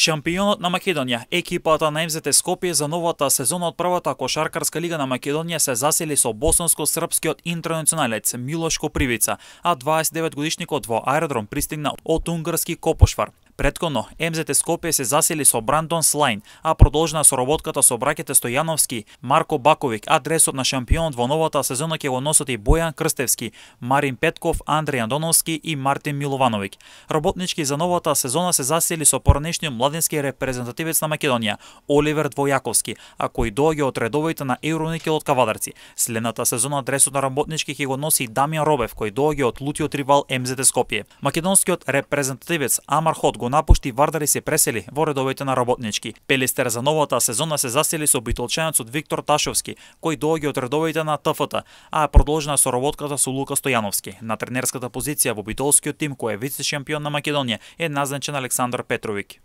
Шампионот на Македонија, екипата на МЗТ Скопје за новата сезона од првата кошаркарска лига на Македонија се засели со босанско-српскиот интернационалец Милош Копривица, а 29-годишникот во аеродром пристигна од унгарски Копошвар. Претходно, МЗТ Скопје се засели со Брандон Слајн, а продолжена соработката со браќите Стојановски, Марко Баковик, а дресот на шампионот во новата сезона ќе го носат и Бојан Крстевски, Марин Петков, Андреј Андоновски и Мартин Миловановиќ. Работнички за новата сезона се засели со поранешниот младински репрезентативец на Македонија, Оливер Двојаковски, а кој доаѓа од редовите на Евроникел од Кавадарци. Следната сезона дресот на работнички ќе го носи Дамјан Робев, кој доаѓа од лутиот ривал МЗТ Скопје. Македонскиот репрезентативец Амар Хот го напушти Вардар и се пресели во редовите на работнички. Пелистер за новата сезона се засели со битолчанецот Виктор Ташовски, кој доаѓа од редовите на ТФТ, а продолжена соработката со Лука Стојановски. На тренерската позиција во битолскиот тим кој е вице-шампион на Македонија е назначен Александар Петровиќ.